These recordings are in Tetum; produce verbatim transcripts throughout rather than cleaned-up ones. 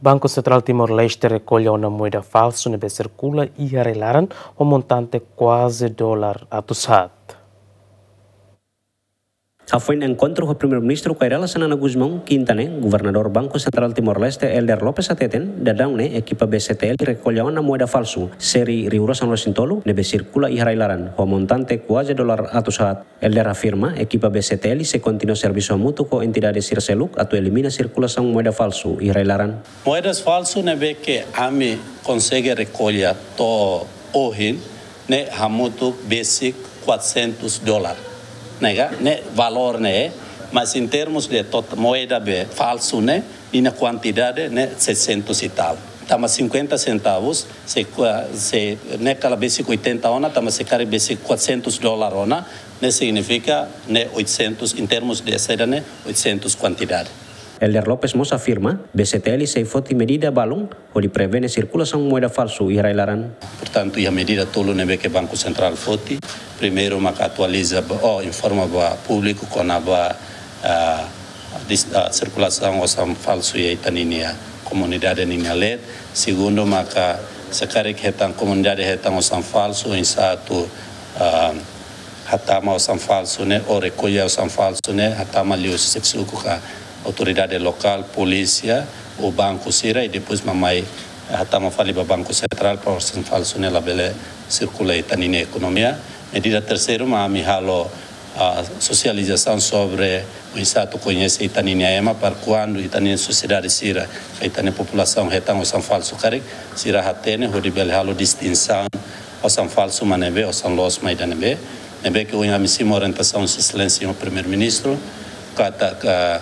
Banku Sentrál Timor-Leste rekolla ona moeda falsu ne'ebé sirkula iha rai-laran ho montante kuaze dolar atus haat. Hafoin enkontru ho Primeiru-Ministru Kay Rala Xanana Gusmão, Kinta ne'e, Governadór Banku Sentrál Timor-Leste, Helder Lopes hateten, daudaun ne'e ekipa B C T L rekolla ona moeda falsu, série rihun rua sanulu resin tolu, ne'ebé sirkula iha rai-laran ho montante kuaze dolar atus haat. Helder afirma, ekipa B C T L sei kontinua servisu hamutuk ho entidade sira seluk atu elimina sirkulasaun moeda falsu iha rai-laran. Moedas falsu ne'ebé ke ami konsege rekolla to'o ohin ne'e hamutuk besik quatrocentos dolar. Ne'e ka, ne'e valór ne'e, mas em termos de tot-, moeda be falsu ne'e, ninia kuantidade ne'e seiscentos e tal. Tanba cinquenta centavos, se kua-, se ne'e kala besik oitenta ona, tanba se karik besik quatrocentos dolar ona, ne'e signifika ne'e oitocentos, em termos de saida ne'e, oitocentos kuantidade. Helder Lopes mós afirma, B C T L sei foti medida balun hodi prevene sirkulasaun moeda falsu iha rai-laran. Portantu, iha medida tolu ne'ebé ke Banku Sentrál foti. Primeiru, maka atualiza ba, ou informa ba públiku kona-ba, ah, dis-, ah, sirkulasaun osan falsu iha ita-ninia komunidade ninia leet. Segundu, maka se karik hetan, komunidade hetan osan falsu, oinsá atu, ah, hatama osan falsu ne'e, ou rekolla osan falsu ne'e, hatama liu xefe suku ka autoridade lokál, polísia, ou banku sira, i depois mak mai hatama fali ba Banku Sentrál para osan falsu ne'e labele sirkula iha ita-ninia ekonomia. Medida terseiru mak ami halo, ah, sosializasaun sobre oinsá atu koñese ita-ninia ema para kuandu ita-ninia sosiedade sira, ka ita-nia populasaun hetan osan falsu karik, sira hatene hodi bele halo distinsaun osan falsu mak ne'ebé, osan loos mak ida ne'ebé. Ne'ebé ke ohin ami simu orientasaun Sua Exelénsia Señór Primeiru-Ministru, katak, ah,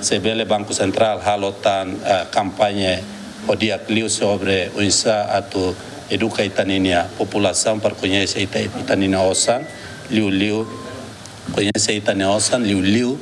se bele Banku Sentrál halo tan, ah, kampaña ho di'ak liu sobre oinsá atu eduka ita-ninia populasaun para koñese ita, ita-ninia osan, liuliu koñese ita-nia osan, liuliu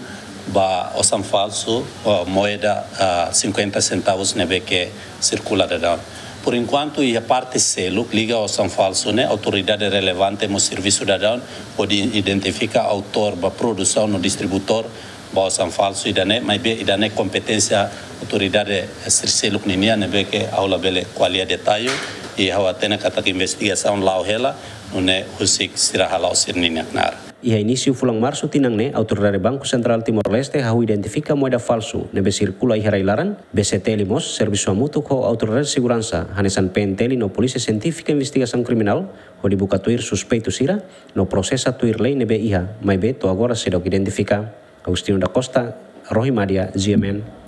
ba osan falsu, ah, moeda, ah, cinquenta centavos ne'ebé ke sirkula daudaun. Por enkuantu, iha parte seluk liga osan falsu ne'e, autoridade relevante mós servisu daudaun hodi identifika autór ba produsaun no distribuidór ba osan falsu ida-ne'e, maibé ida-ne'e kompeténsia autoridade sira seluk ninian, ne'ebé ke ha'u labele ko'alia detalle, i ha'u hatene katak investigasaun la'o hela, nune'e husik sira hala'o sira-ninia knaar. Iha inísiu fulan Marsu tinan ne'e, Autoridade Banku Sentrál Timor-Leste hahú identifika moeda falsu ne'ebé sirkula iha rai-laran. B C T L mós servisu hamutuk ho autoridade seguransa, hanesan P N T L no Polísia Sientífika Investigasaun Kriminál, hodi buka tuir suspeitu sira no prosesa tuir lei ne'ebé iha, maibé to'o agora seidauk identifika. Agostinho da Costa, Rohi Madia, G M N.